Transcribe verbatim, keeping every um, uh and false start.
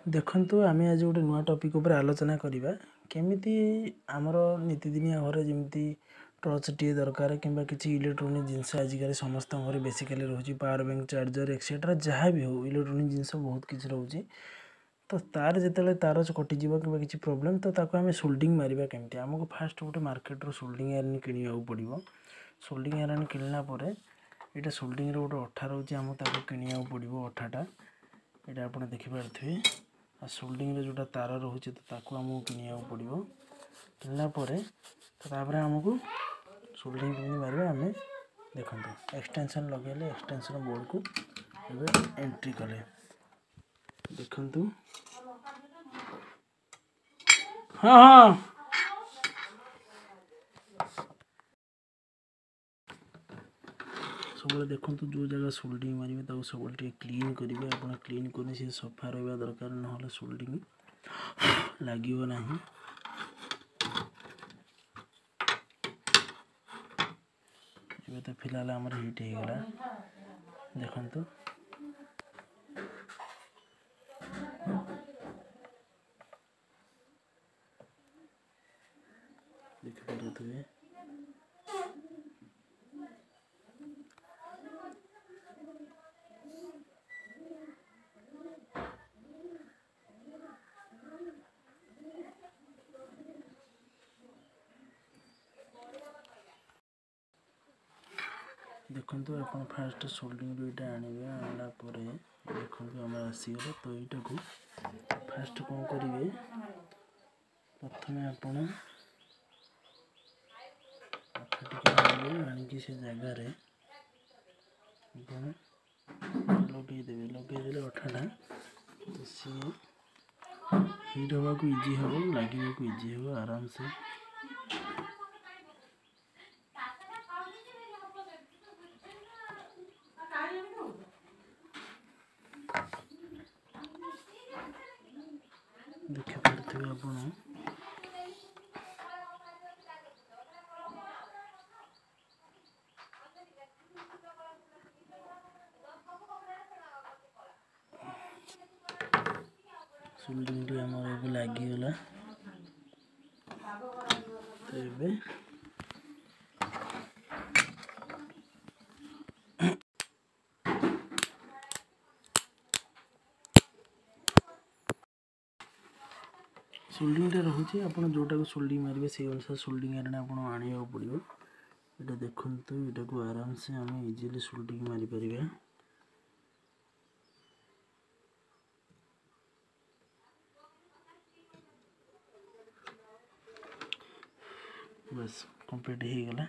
ଦେଖନ୍ତୁ, ଆମେ ଆଜି ଗୋଟେ ନୂଆ ଟପିକ୍ ଉପରେ ଆଲୋଚନା କରିବା। କେମିତି ଆମର ନିତିଦିନିଆ ଘରେ ଯେମିତି ଟର୍ଚ୍ଚଟିଏ ଦରକାର କିମ୍ବା କିଛି ଇଲେକ୍ଟ୍ରୋନିକ୍ ଜିନିଷ ଆଜିକାଲି ସମସ୍ତଙ୍କ ଘରେ ବେସିକାଲି ରହୁଛି, ପାୱାର ବ୍ୟାଙ୍କ, ଚାର୍ଜର, ଏକ୍ସେଟ୍ରା ଯାହା ବି ହେଉ, ଇଲେକ୍ଟ୍ରୋନିକ୍ ଜିନିଷ ବହୁତ କିଛି ରହୁଛି। ତ ତାର ଯେତେବେଳେ ତାର କଟିଯିବ କିମ୍ବା କିଛି ପ୍ରୋବ୍ଲେମ୍, ତ ତାକୁ ଆମେ ସୋଲ୍ଡିଂ ମାରିବା କେମିତି? ଆମକୁ ଫାଷ୍ଟ ଗୋଟେ ମାର୍କେଟରୁ ସୋଲ୍ଡିଂ ଆଇରନ୍ କିଣିବାକୁ ପଡ଼ିବ। ସୋଲ୍ଡିଂ ଆଇରନ୍ କିଣିଲା ପରେ ଏଇଟା ସୋଲ୍ଡିଂର ଗୋଟେ ଅଠା ରହୁଛି, ଆମକୁ ତାକୁ କିଣିବାକୁ ପଡ଼ିବ ଅଠାଟା। ଏଇଟା ଆପଣ ଦେଖିପାରୁଥିବେ। ଆଉ ସୋଲ୍ଡିଂର ଯେଉଁଟା ତାର ରହୁଛି, ତ ତାକୁ ଆମକୁ କିଣିବାକୁ ପଡ଼ିବ। କିଣିଲା ପରେ ତ ତାପରେ ଆମକୁ ସୋଲ୍ଡିଂ କେମିତି ମାରିବା ଆମେ ଦେଖନ୍ତୁ। ଏକ୍ସଟେନସନ୍ ଲଗାଇଲେ, ଏକ୍ସଟେନସନ୍ ବୋର୍ଡ଼କୁ ଏବେ ଏଣ୍ଟ୍ରି କଲେ, ଦେଖନ୍ତୁ। ହଁ ହଁ, ସବୁବେଳେ ଦେଖନ୍ତୁ, ଯେଉଁ ଜାଗା ସୋଲ୍ଡିଂ ମାରିବେ ତାକୁ ସବୁବେଳେ ଟିକେ କ୍ଲିନ୍ କରିବେ ଆପଣ। କ୍ଲିନ୍ କରି ସେ ସଫା ରହିବା ଦରକାର, ନହେଲେ ସୋଲ୍ଡିଂ ଲାଗିବ ନାହିଁ। ଏବେ ତ ଫିଲହାଲ ଆମର ହିଟ୍ ହେଇଗଲା, ଦେଖନ୍ତୁ। ଦେଖିପାରୁଥିବେ। ଦେଖନ୍ତୁ, ଆପଣ ଫାଷ୍ଟ ସୋଲ୍ଡିଂରୁ ଏଇଟା ଆଣିବେ। ଆଣିଲା ପରେ ଦେଖନ୍ତୁ, ଆମର ଆସିଗଲା। ତ ଏଇଟାକୁ ଫାଷ୍ଟ କ'ଣ କରିବେ? ପ୍ରଥମେ ଆପଣ ଅଠା ଟିକେ ଆଣିବେ, ଆଣିକି ସେ ଜାଗାରେ ଆପଣ ଲଗେଇଦେବେ। ଲଗେଇଦେଲେ ଅଠାଟା ତ ସିଏ ହିଟ୍ ହେବାକୁ ଇଜି ହେବ, ଲାଗିବାକୁ ଇଜି ହେବ ଆରାମସେ। ଦେଖିପାରୁଥିବେ ଆପଣ। ସୋଲ୍ଡିଂଟି ଆମର ଏବେ ଲାଗିଗଲା। ତ ଏବେ ସୋଲ୍ଡିଂଟା ରହୁଛି, ଆପଣ ଯେଉଁଟାକୁ ସୋଲ୍ଡିଂ ମାରିବେ ସେଇ ଅନୁସାରେ ସୋଲ୍ଡିଂ ଆଇରନ୍ ଆପଣ ଆଣିବାକୁ ପଡ଼ିବ। ଏଇଟା ଦେଖନ୍ତୁ, ଏଇଟାକୁ ଆରାମସେ ଆମେ ଇଜିଲି ସୋଲ୍ଡିଂ ମାରିପାରିବା। ବାସ୍, କମ୍ପ୍ଲିଟ୍ ହେଇଗଲା।